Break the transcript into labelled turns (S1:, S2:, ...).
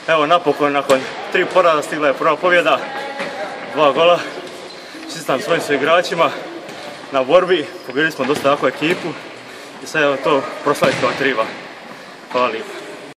S1: Evo napokon, nakon 3 poraza stigla je prva pobjeda, 2 gola. Čestitam svojim igračima na borbi, pobjedili smo dosta jaku ekipu i sad evo to proslaviti kao treba. Hvala lijepo.